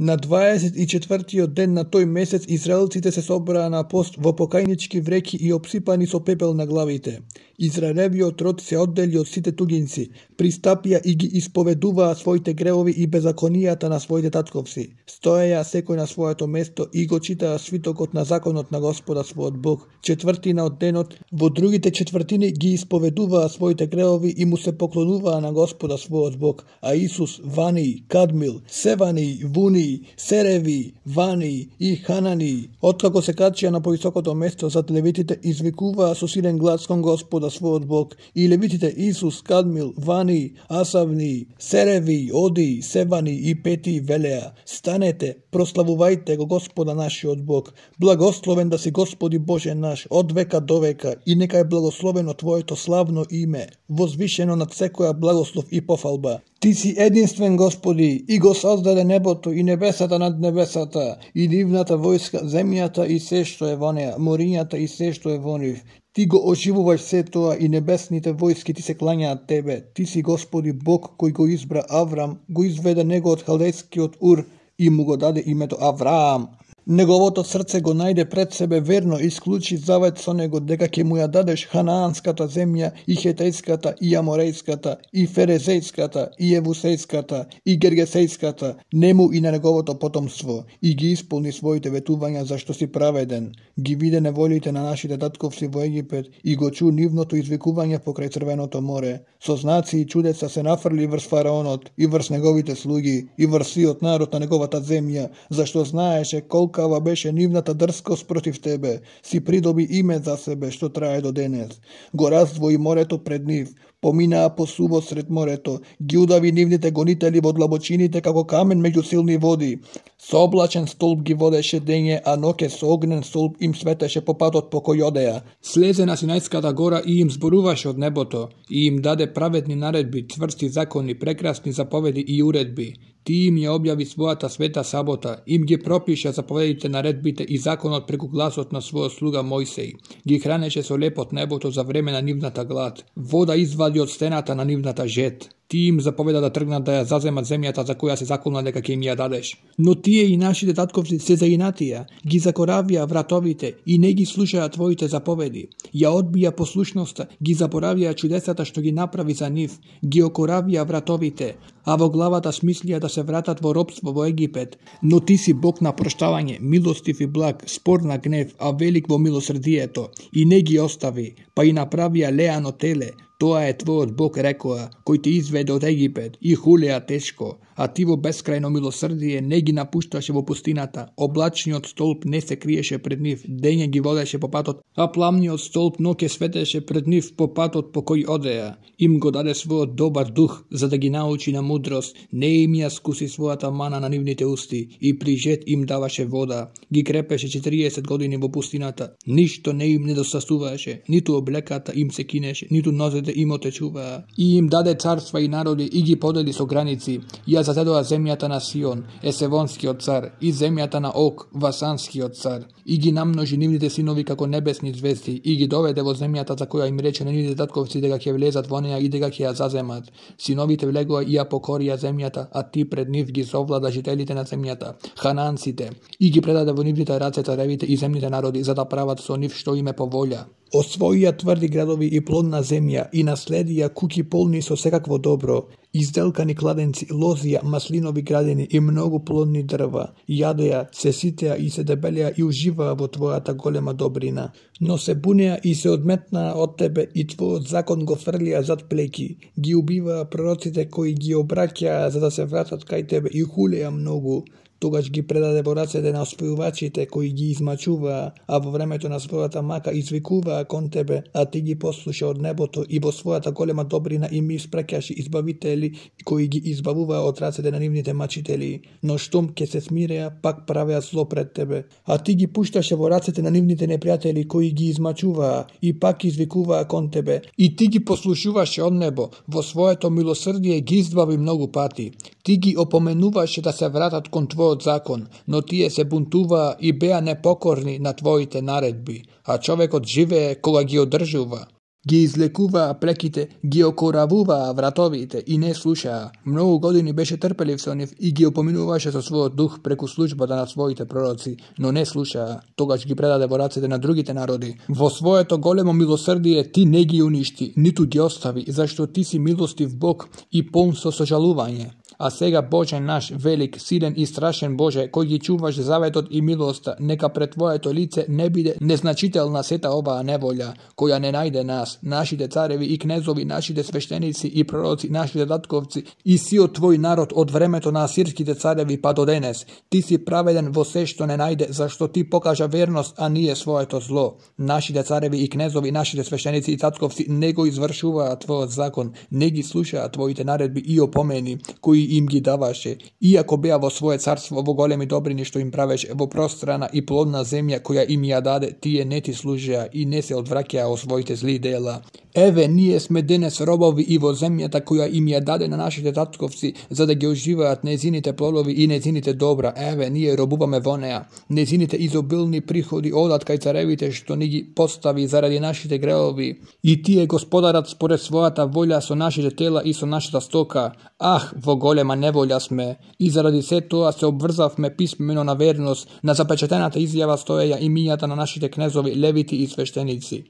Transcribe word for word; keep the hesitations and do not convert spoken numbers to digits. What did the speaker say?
На дваесет и четвртиот ден на тој месец израелците се собраа на пост во покајнички вреќи и обсипани со пепел на главите. Израелевиот род се оддели од сите туѓинци, пристапија и ги исповедуваа своите гревови и беззаконијата на своите татковци. Стоеја секој на своето место и го читаа свитокот на законот на Господа својот Бог. Четвртина од денот, во другите четвртини ги исповедуваа своите гревови и му се поклонуваа на Господа својот Бог. А Исус, Вани, Кадмил, Севани, Вуни, Сереви, Вани и Ханани, откако се качија на повисокото место зад левитите, извикуваа со силен глас кон Господа својот Бог. И левитите Исус, Кадмил, Вани, Асавни, Сереви, Оди, Севани и Пети велеа: станете, прославувајте го Господа нашиот Бог. Благословен да си Господи Боже наш, од века до века, и нека е благословено Твоето славно име, возвишено над секоја благослов и пофалба. Ти си единствен, Господи, и го создаде небото и небесата над небесата, и нивната војска, земјата и се што е во неа, морињата и се што е во нив. Ти го оживуваш се тоа и небесните војски ти се клањаат Тебе. Ти си Господи Бог кој го избра Аврам, го изведе него од халдејскиот Ур и му го даде името Авраам. Неговото срце го најде пред себе верно и склучи завет со него дека ќе му ја дадеш ханаанската земја и хетејската и аморејската и ферезејската и евусејската и гергесејската, нему и на неговото потомство, и ги исполни своите ветувања зашто си праведен. Ги виде неволите на нашите татковци во Египет и го чу нивното извикување покрај Црвеното море. Со знаци и чудеса се нафрли врз фараонот и врз неговите слуги и врз сиот народ на неговата земја, зашто знаеше колку Кава беше нивната дрскост против Тебе, си придоби име за себе што трае до денес. Го раздвои морето пред нив, поминаа по субот сред морето, ги удави нивните гонители во длабочините како камен меѓу силни води. Со облачен столб ги водеше дење, а ноќе со огнен столб им светеше по патот по кој одеа. Слезе на Синајската гора и им зборуваше од небото, и им даде праведни наредби, цврсти закони, прекрасни заповеди и уредби. Ти им ја објави својата света сабота, им ги пропиша заповедите, наредбите и законот преку гласот на својот слуга Мојсеј. Ги хранеше со леп од небото за време на нивната глад. Вода извади од стената на нивната жет. Ти им заповеда да тргнат да ја заземат земјата за која се заколна дека ќе им ја дадеш. Но тие и нашите татковци се заинатија, ги закоравија вратовите и не ги слушаа Твоите заповеди. Ја одбија послушноста, ги заборавија чудесата што ги направи за нив, ги окоравија вратовите, а во главата смислија да се вратат во робство во Египет. Но Ти си Бог на проштавање, милостив и благ, спор на гнев, а велик во милосрдието, и не ги остави, па и направија леано теле. Тоа е Твојот Бог, рекоа, кој те изведе од Египет, и хулеа тешко, а Ти во бескрајно милосрдие не ги напушташе во пустината. Облачниот столб не се криеше пред нив, дење ги водеше по патот, а пламниот столб ноќе светеше пред нив по патот по кој одеа. Им го даде својот добар дух, за да ги научи на мудрост, не им ја скуси својата мана на нивните усти, и при жет им даваше вода. Ги крепеше четириесет години во пустината, ништо не им недостасуваше, ниту облеката им се кинеше, ниту нозете им отечуваа. И им даде царства и народи и ги подели со граници. Ја зазедоа земјата на Сион, Есевонскиот цар, и земјата на Ог, Васанскиот цар. И ги намножи нивните синови како небесни звезди, и ги доведе во земјата за која им рече на нивните татковци дека ќе влезат во неа и дека ќе ја заземат. Синовите влегоа и ја покорија земјата, а Ти пред нив ги совлада жителите на земјата, хананците, и ги предаде во нивните раце царевите и земните народи, за да прават со нив што им е по волја. Освоија тврди градови и плодна земја и наследија куќи полни со секакво добро, изделкани кладенци, лозија, маслинови градини и многу плодни дрва. Јадеа, се ситеа и се дебелеа и уживаа во Твојата голема добрина. Но се бунеа и се одметнаа од Тебе и Твојот закон го фрлија зад плеки. Ги убиваа пророците кои ги обраќаа за да се вратат кај Тебе и хулеа многу. Тогаш ги предаде во рацете на оспојувачите кои ги измачуваа, а во времето на својата мака извикуваа кон Тебе, а Ти ги послуша од небото и во својата голема добрина им испраќаше избавители кои ги избавуваа од рацете на нивните мачители. Но штом ќе се смиреа, пак правеа зло пред Тебе, а Ти ги пушташе во рацете на нивните непријатели кои ги измачуваа и пак извикуваа кон Тебе, и Ти ги послушуваше од небо, во своето милосрдие ги избави многу пати. Ти ги опоменуваше да се вратат кон Твојот закон, но тие се бунтуваа и беа непокорни на Твоите наредби, а човекот живее кога ги одржува. Ги излекуваа плеките, ги окоравуваа вратовите и не слушаа. Многу години беше трпелив со нив и ги опоминуваше со својот дух преку службата на своите пророци, но не слушаа. Тогаш ги предаде во рацете на другите народи. Во своето големо милосрдие ти не ги уништи, ниту ги остави, зашто ти си милостив Бог и полн со сожалување. А сега, Боже наш, велик, силен и страшен Боже, кој ги чуваш заветот и милоста, нека пред Твоето лице не биде незначителна сета оваа неволја, која не најде нас, нашите цареви и кнезови, нашите свештеници и пророци, нашите татковци и сиот Твој народ од времето на асирските цареви па до денес. Ти си праведен во се што не најде, зашто Ти покажа верност, а ние своето зло. Нашите цареви и кнезови, нашите свештеници и татковци не го извршуваат Твојот закон, не ги слушаат Твоите наредби и опомени, кои им ги даваше, иако беа во свое царство во големи добрини што им правеше, во пространа и плодна земја која им ја даде, тие не ти служеа и не се одвраќаа од своите зли дела. Еве, ние сме денес робови и во земјата која им ја даде на нашите татковци, за да ги оживаат незините плодови и незините добра. Еве, ние робуваме во неа. Незините изобилни приходи одат кај царевите што ни ги постави заради нашите греови. И тие господарат според својата волја со нашите тела и со нашата стока. Ах, во голема неволја сме, и заради се тоа се обврзавме писмено на верност, на запечатената изјава стоеја имињата на нашите кнезови, левити и свештеници.